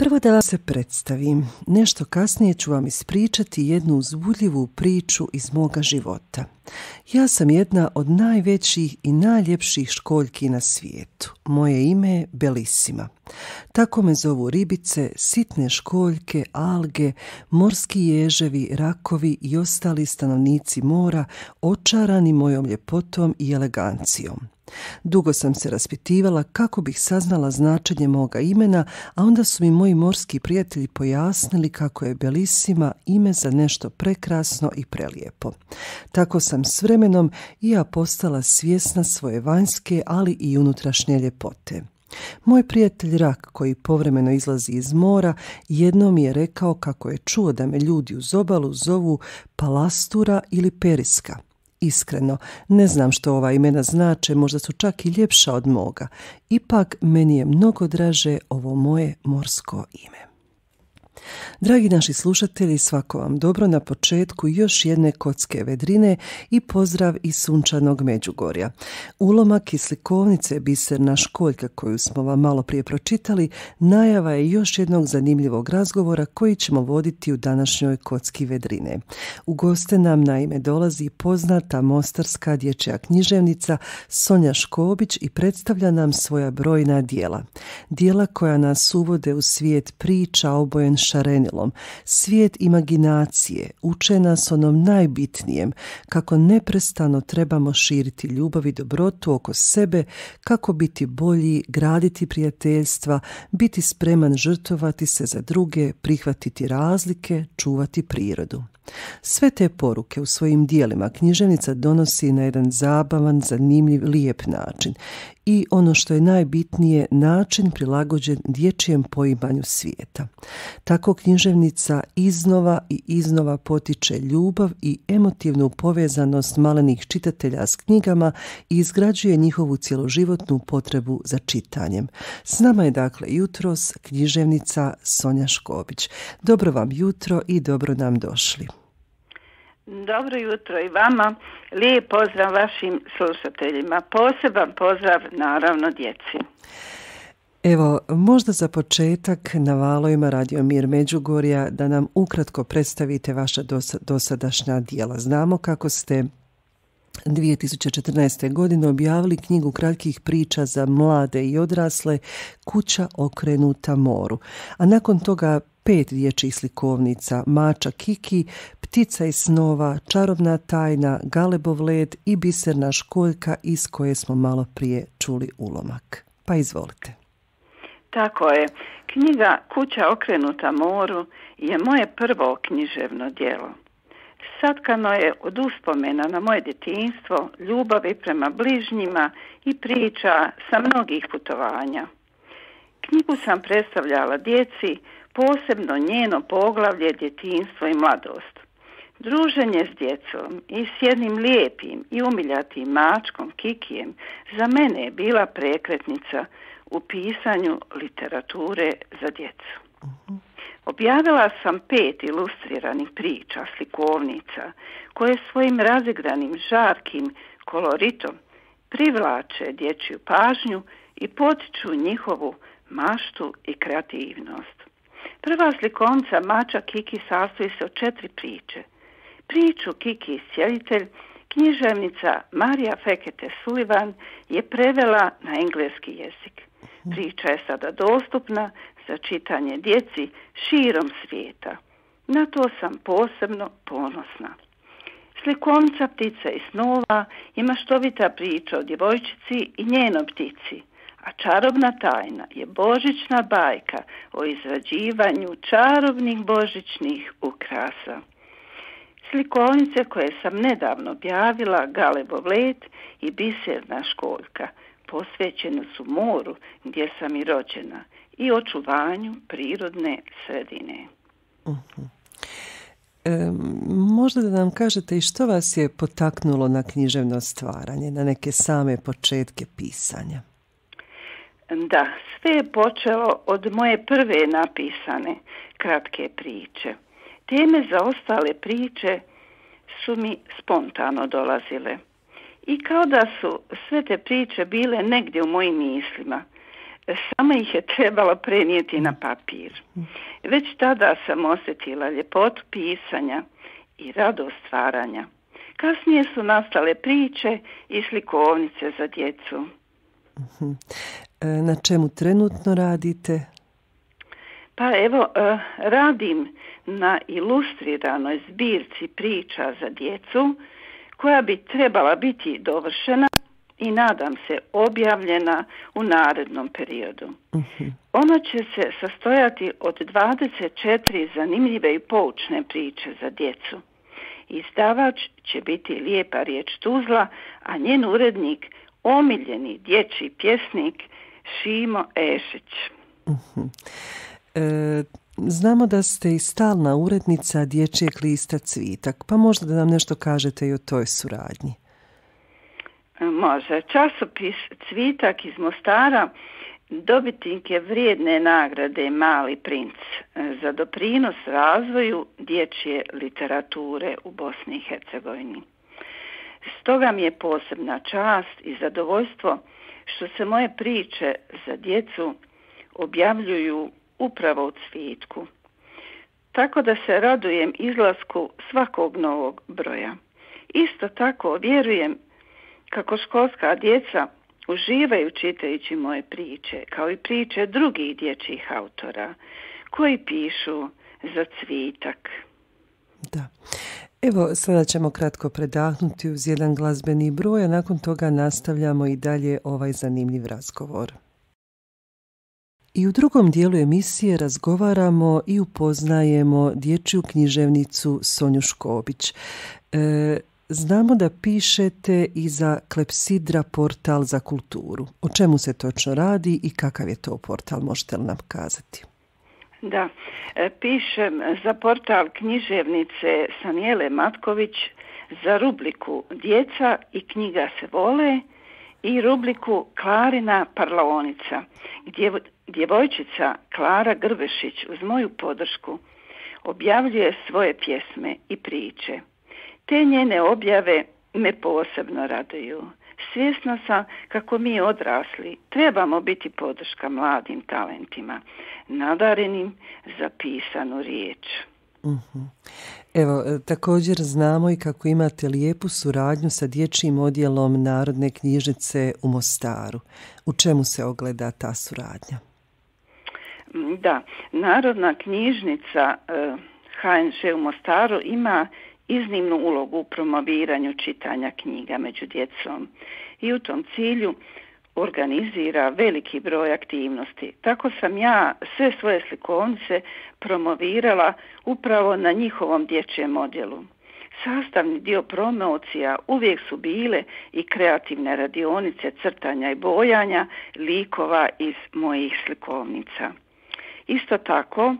Prvo da vam se predstavim. Nešto kasnije ću vam ispričati jednu uzbudljivu priču iz moga života. Ja sam jedna od najvećih i najljepših školjki na svijetu. Moje ime je Belissima. Tako me zovu ribice, sitne školjke, alge, morski ježevi, rakovi i ostali stanovnici mora, očarani mojom ljepotom i elegancijom. Dugo sam se raspitivala kako bih saznala značenje moga imena, a onda su mi moji morski prijatelji pojasnili kako je Belissima ime za nešto prekrasno i prelijepo. Tako sam s vremenom i ja postala svjesna svoje vanjske, ali i unutrašnje ljepote. Moj prijatelj Rak, koji povremeno izlazi iz mora, jednom mi je rekao kako je čuo da me ljudi uz obalu zovu Palastura ili Periska. Iskreno, ne znam što ova imena znače, možda su čak i ljepša od moga. Ipak, meni je mnogo draže ovo moje morsko ime. Dragi naši slušatelji, svako vam dobro na početku još jedne kocke vedrine i pozdrav iz sunčanog Međugorja. Ulomak iz slikovnice Biserna školjka koju smo vam malo prije pročitali, najava je još jednog zanimljivog razgovora koji ćemo voditi u današnjoj kocki vedrine. U goste nam naime dolazi poznata mostarska dječja književnica Sonja Škobić i predstavlja nam svoja brojna djela. Djela koja nas uvode u svijet priča obojen šarenilom, svijet imaginacije, uče nas onom najbitnijem, kako neprestano trebamo širiti ljubav i dobrotu oko sebe, kako biti bolji, graditi prijateljstva, biti spreman žrtvovati se za druge, prihvatiti razlike, čuvati prirodu. Sve te poruke u svojim dijelima književnica donosi na jedan zabavan, zanimljiv, lijep način i ono što je najbitnije, način prilagođen dječjem poimanju svijeta. Tako književnica iznova i iznova potiče ljubav i emotivnu povezanost malenih čitatelja s knjigama i izgrađuje njihovu cjeloživotnu potrebu za čitanjem. S nama je dakle jutros književnica Sonja Škobić. Dobro vam jutro i dobro nam došli. Dobro jutro i vama, lijep pozdrav vašim slušateljima, poseban pozdrav naravno djeci. Evo, možda za početak na valovima Radio Mir Međugorja da nam ukratko predstavite vaša dosadašnja djela. Znamo kako ste 2014. godine objavili knjigu kratkih priča za mlade i odrasle Kuća okrenuta moru, a nakon toga 5 dječjih slikovnica Mača Kiki, Ptica iz snova, Čarobna tajna, Galebov led i Biserna školjka iz koje smo malo prije čuli ulomak. Pa izvolite. Tako je. Knjiga Kuća okrenuta moru je moje prvo književno djelo. Satkano je od uspomena na moje djetinjstvo, ljubavi prema bližnjima i priča sa mnogih putovanja. Knjigu sam predstavljala djeci, posebno njeno poglavlje djetinjstvo i mladost. Druženje s djecom i s jednim lijepim i umiljatim mačkom Kikijem za mene je bila prekretnica u pisanju literature za djecu. Objavila sam 5 ilustriranih priča, slikovnica, koje svojim razigranim, žarkim koloritom privlače dječju pažnju i potiču njihovu maštu i kreativnost. Prva slikovnica Mača Kiki sastoji se od 4 priče. Priču Kiki iscijelitelj književnica Marija Fekete Sullivan je prevela na engleski jezik. Priča je sada dostupna za čitanje djeci širom svijeta. Na to sam posebno ponosna. Slikovnica Ptica iz snova je maštovita priča o djevojčici i njenoj ptici, a Čarobna tajna je božićna bajka o izrađivanju čarobnih božićnih ukrasa. Slikovnice koje sam nedavno objavila, Galebov led i Biserna školjka, posvećene su moru gdje sam i rođena i očuvanju prirodne sredine. Možda da nam kažete i što vas je potaknulo na književno stvaranje, na neke same početke pisanja? Da, sve je počelo od moje prve napisane kratke priče. Teme za ostale priče su mi spontano dolazile. I kao da su sve te priče bile negdje u mojim mislima, Samo ih je trebalo prenijeti na papir. Već tada sam osjetila ljepotu pisanja i radost stvaranja. Kasnije su nastale priče i slikovnice za djecu. Na čemu trenutno radite? Pa evo, radim na ilustriranoj zbirci priča za djecu koja bi trebala biti dovršena i nadam se objavljena u narednom periodu. Ona će se sastojati od 24 zanimljive i poučne priče za djecu. Izdavač će biti Lijepa riječ Tuzla, a njen urednik omiljeni dječji pjesnik Šimo Ešić. Znamo da ste i stalna urednica dječjeg lista Cvitak, pa možda da nam nešto kažete i o toj suradnji. Može. Časopis Cvitak iz Mostara dobitnik je vrijedne nagrade Mali princ za doprinos razvoju dječje literature u Bosni i Hercegovini. Stoga mi je posebna čast i zadovoljstvo što se moje priče za djecu objavljuju upravo u Cvitku. Tako da se radujem izlasku svakog novog broja. Isto tako vjerujem kako školska djeca uživaju čitajući moje priče, kao i priče drugih dječjih autora koji pišu za Cvitak. Da. Evo, sada ćemo kratko predahnuti uz jedan glazbeni broj, a nakon toga nastavljamo i dalje ovaj zanimljiv razgovor. I u drugom dijelu emisije razgovaramo i upoznajemo dječju književnicu Sonju Škobić. Znamo da pišete i za Klepsidra portal za kulturu. O čemu se točno radi i kakav je to portal, možete li nam kazati? Da, pišem za portal književnice Sanijele Matković za rubriku Djeca i knjiga se vole i rubriku Klarina parlaonica, gdje djevojčica Klara Grbešić uz moju podršku objavljuje svoje pjesme i priče. Te njene objave me posebno raduju. Svjesna sam kako mi odrasli trebamo biti podrška mladim talentima, nadarenim za pisanu riječ. Evo, također znamo i kako imate lijepu suradnju sa dječjim odjelom Narodne knjižnice u Mostaru. U čemu se ogleda ta suradnja? Da, Narodna knjižnica HNŽ u Mostaru ima iznimnu ulogu u promoviranju čitanja knjiga među djecom i u tom cilju organizira veliki broj aktivnosti. Tako sam ja sve svoje slikovnice promovirala upravo na njihovom dječjem odjelu. Sastavni dio promocija uvijek su bile i kreativne radionice crtanja i bojanja likova iz mojih slikovnica. Isto tako,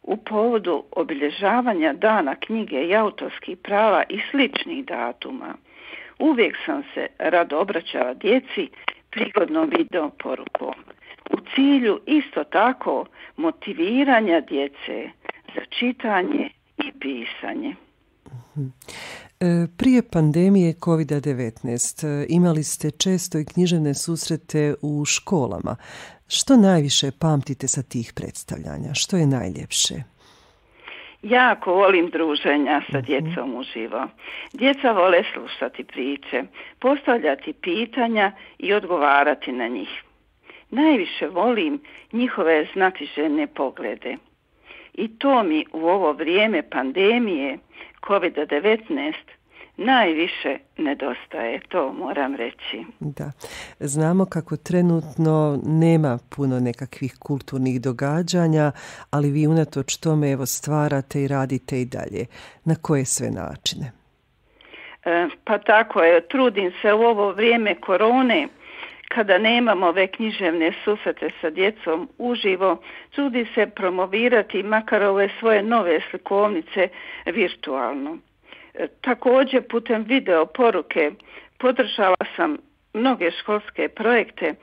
u povodu obilježavanja dana knjige i autorskih prava i sličnih datuma, uvijek sam se rado obraćala djeci prigodnom video porukom. U cilju isto tako motiviranja djece za čitanje i pisanje. Prije pandemije COVID-19 imali ste često i književne susrete u školama. Što najviše pamtite sa tih predstavljanja? Što je najljepše? Jako volim druženja sa djecom uživo. Djeca vole slušati priče, postavljati pitanja i odgovarati na njih. Najviše volim njihove znatiželjne poglede. I to mi u ovo vrijeme pandemije COVID-19 najviše nedostaje, to moram reći. Da, znamo kako trenutno nema puno nekakvih kulturnih događanja, ali vi unatoč tome evo stvarate i radite i dalje. Na koje sve načine? Pa tako je, trudim se u ovo vrijeme korone, kada nemamo ove književne susrete sa djecom uživo, trudi se promovirati makar ove svoje nove slikovnice virtualno. Također putem video poruke podržala sam mnoge školske projekte,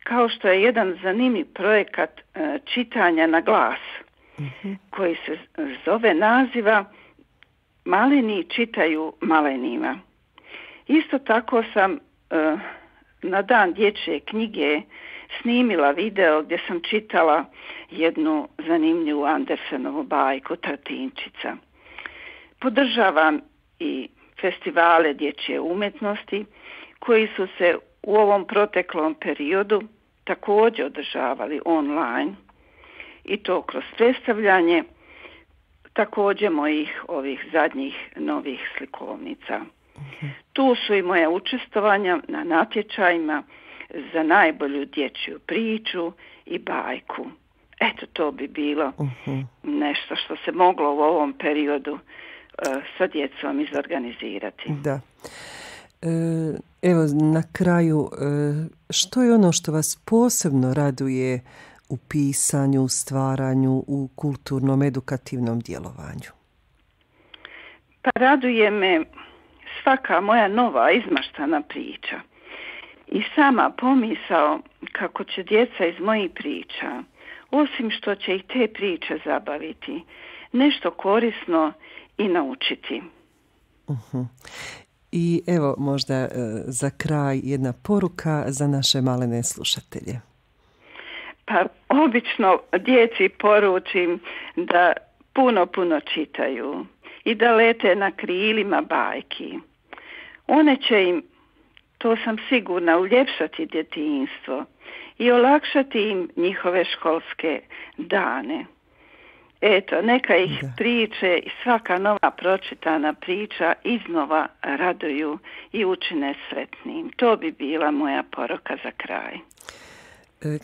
kao što je jedan zanimljiv projekat čitanja na glas, koji se zove naziva Maleni čitaju malenima. Isto tako sam na dan dječje knjige snimila video gdje sam čitala jednu zanimljivu Andersenovu bajku Tartinčica. Podržavam i festivale dječje umjetnosti koji su se u ovom proteklom periodu također održavali online i to kroz predstavljanje također mojih ovih zadnjih novih slikovnica. Tu su i moja učestvovanja na natječajima za najbolju dječju priču i bajku. Eto, to bi bilo nešto što se moglo u ovom periodu sa djecom izorganizirati. Da. Evo, na kraju, što je ono što vas posebno raduje u pisanju, stvaranju, u kulturnom, edukativnom djelovanju? Pa raduje me svaka moja nova izmaštana priča i sama pomisao kako će djeca iz mojih priča, osim što će ih te priče zabaviti, nešto korisno i naučiti. I evo možda za kraj jedna poruka za naše malene slušatelje. Pa obično djeci poručim da puno čitaju i da lete na krilima bajki. One će im, to sam sigurna, uljepšati djetinjstvo i olakšati im njihove školske dane. Eto, neka ih priče i svaka nova pročitana priča iznova raduju i učine sretnim. To bi bila moja poruka za kraj.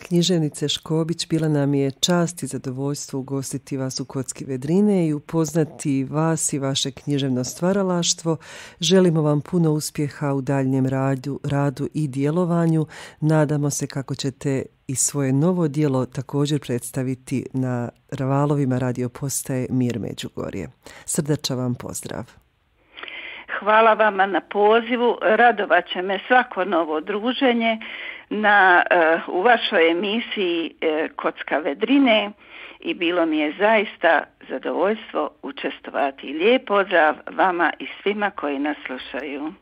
Književnice Škobić, bila nam je čast i zadovoljstvo ugostiti vas u Kocki Vedrine i upoznati vas i vaše književno stvaralaštvo. Želimo vam puno uspjeha u daljnjem radu i djelovanju. Nadamo se kako ćete i svoje novo djelo također predstaviti na valovima radio postaje Mir Međugorje. Srdačan vam pozdrav. Hvala vama na pozivu. Radovat će me svako novo druženje u vašoj emisiji Kocka Vedrine i bilo mi je zaista zadovoljstvo učestvovati. Lijep pozdrav vama i svima koji nas slušaju.